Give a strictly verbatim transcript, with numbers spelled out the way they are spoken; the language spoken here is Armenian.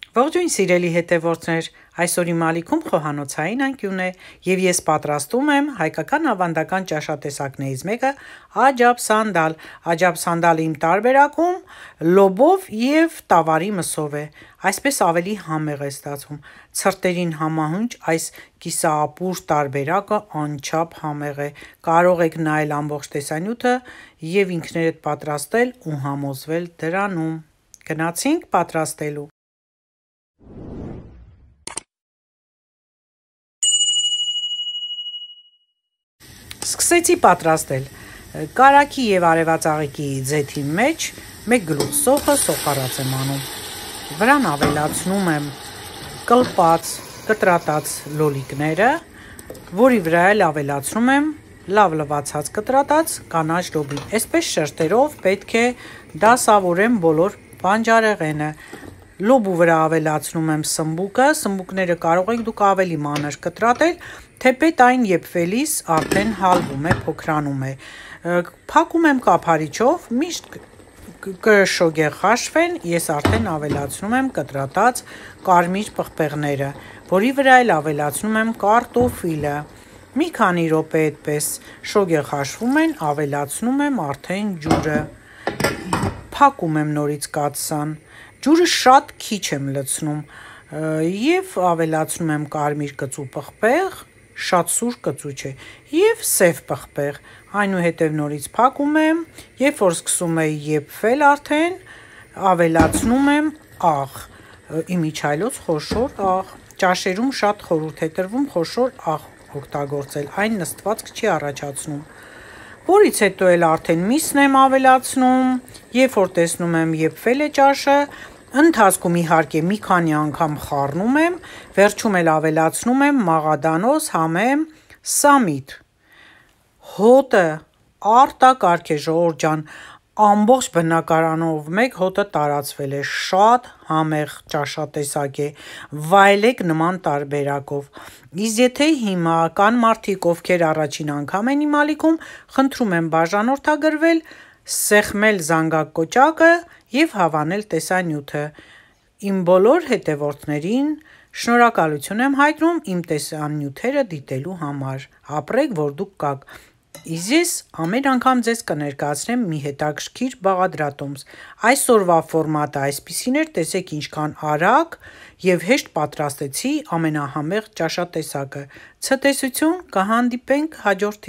Ողջույն սիրելի հետևորդներ, այսօր իմ ալիքում խոհանոցային անկյուն է եւ ես պատրաստում եմ հայկական ավանդական ճաշատեսակներից մեկը աջափսանդալ։ Աջափսանդալը իմ տարբերակում լոբով եւ տավարի մսով է, այսպես ավելի համեղ է ստացվում։ Ցրտերին համահունչ այս կիսաապուր տարբերակը անչափ համեղ է։ Կարող եք նայել ամբողջ տեսանյութը եւ ինքներդ պատրաստել ու համոզվել դրանում։ Գնացինք պատրաստելու։ Սկսեցի պատրաստել։ Կարագի եւ արևածաղիկի ձեթի մեջ մեկ գլուխ սոխը սոխառած եմ անում։ Վրան ավելացնում եմ կլպած, կտրատած լոլիկները, որի վրա էլ ավելացնում եմ լավ լվացած կտրատած կանաչ լոբի։ Այսպես շերտերով պետք է դասավորեմ բոլոր բանջարեղենը։ Լոբու վրա ավելացնում եմ սմբուկը, սմբուկները կարող եք դուք ավելի մանր կտրատել, թեպետ այն եփվելիս արդեն հալվում է, փոքրանում է։ Փակում եմ կափարիչով, միշտ կշոգեղ հաշվեն, ես արդեն ավելացնում եմ կտրատած կարմիր պղպեղները, որի վրա էլ ավելացնում եմ կարտոֆիլը։ Մի քանի րոպե այդպես շոգեղ հաշվում են, ավելացնում եմ արդեն ջուրը։ Փակում եմ նորից կաթսան։ Ջուրը շատ քիչ եմ լցնում եւ ավելացնում եմ կարմիր կծու պղպեղ, շատ սուր կծու չէ, եւ սև պղպեղ, այնուհետեւ նորից փակում եմ, երբ որ սկսում է եփվել արդեն, ավելացնում եմ աղ, իմիջիայլոց խոշոր աղ, ճաշերում շատ խորհուրդ է տրվում խոշոր աղ օգտագործել, այն նստվածք չի առաջացնում, որից հետո էլ արդեն միսն եմ ավելացնում, երբ որ տեսնում եմ եփվել է ճաշը, ընթացքում իհարկե մի քանի անգամ խառնում եմ, վերջում էլ ավելացնում եմ մաղադանոց, համեմ, սամիտ։ Հոտը արտակարգ է, ժողովուրդ ջան, ամբողջ բնակարանով մեկ հոտը տարածվել է, շատ համեղ ճաշատեսակ է, վայելեք նման տարբերակով։ Իսկ եթե հիմա կան մարդիկ, ովքեր առաջին անգամ են իմ ալիքում, խնդրում եմ բաժանորդագրվել, սեղմել զանգակ կոճակը եւ հավանել տեսանյութը։ Իմ բոլոր հետևորդներին շնորհակալություն եմ հայտնում իմ տեսանյութերը դիտելու համար։ Ապրեք, որ դուք կաք։ Իսկ ես ամեն անգամ ձեզ կներկայացնեմ մի հետաքրքիր բաղադրատոմս։ Այսօրվա ֆորմատը այսպիսին էր, տեսեք ինչքան արագ եւ հեշտ պատրաստեցի ամենահամեղ ճաշատեսակը։ Ցտեսություն, կհանդիպենք հաջորդ